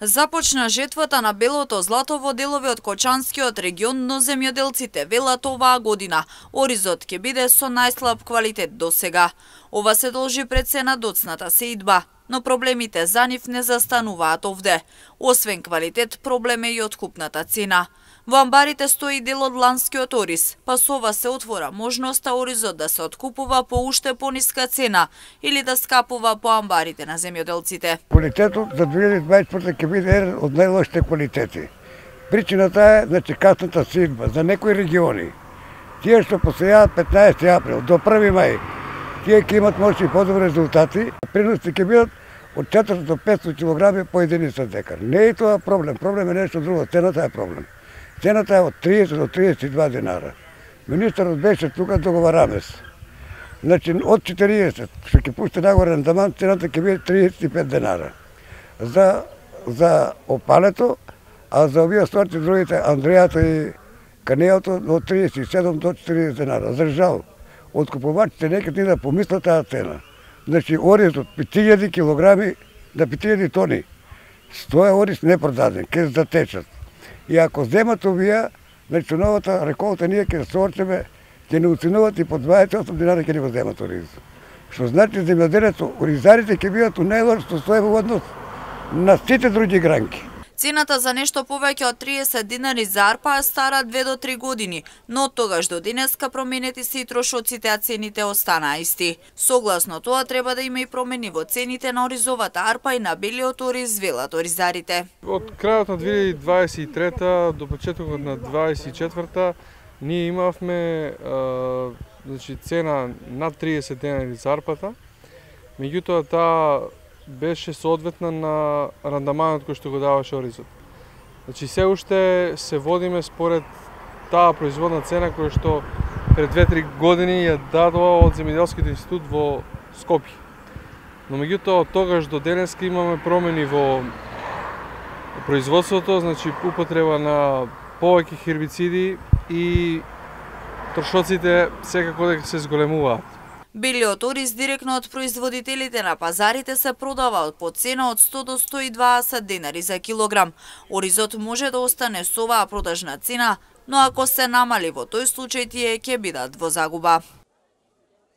Започна жетвата на белото злато во делови од Кочанскиот регион, но земјоделците велат оваа година оризот ќе биде со најслаб квалитет досега. Ова се должи пред се на доцната сеидба, но проблемите за нив не застануваат овде. Освен квалитет, проблем е и откупната цена. Во амбарите стои дел од ланскиот ориз, па со ова се отвора можноста оризот да се откупува по уште пониска цена или да скапува по амбарите на земјоделците. Квалитетот за 2024 ќе биде еден од најлошите квалитети. Причината е касната сеидба за некои региони. Тие што посејаат 15 април до 1 мај, тие ќе имат може и подобри резултати. Приносите ќе бидат од 400 до 500 кг по единица декар. Не е тоа проблем, проблем е нешто друго, цената е проблем. Цената е од 30 до 32 динара. Министерот беше тука договарамес. Значи од 40 што ќе пусти нагоре рендамент, цената ќе биде 35 динара. За опалето, а за овие сорти другите, Андрејата и Канејото, од 37 до 40 динара. За жал, откупувачите нека ни да помислат таа цена. Значи оризот 5000 килограми на 5000 тони. 100 ориз не продаден, ќе затечат. И ако земат овие, значи новата реколта ние ќе сорчеме, ќе не уценуват и по 28 динара ќе не го земат ориз. Што значи земјоделецот, оризарите ќе бидат у најлошото состојба однос на сите други гранки. Цената за нешто повеќе од 30 динари за арпа е стара 2 до 3 години, но од тогаш до денеска променети се и трошоците, а цените останаа исти. Согласно тоа треба да има и промени во цените на оризовата арпа и на белиот ориз, велат оризарите. Од крајот на 2023 до почетокот на 2024 ние имавме цена над 30 динари за арпата, меѓутоа таа беше соодветна на рандаманот кој што го даваше оризот. Значи се уште се водиме според таа производна цена која што пред 2-3 години ја дадува од Земјоделскиот институт во Скопје. Но меѓутоа од тогаш до денеска имаме промени во производството, значи употреба на повеќе хербициди и трошоците секако дека се зголемуваат. Белиот ориз директно од производителите на пазарите се продава по цена од 100 до 120 денари за килограм. Оризот може да остане со оваа продажна цена, но ако се намали во тој случај тие ќе бидат во загуба.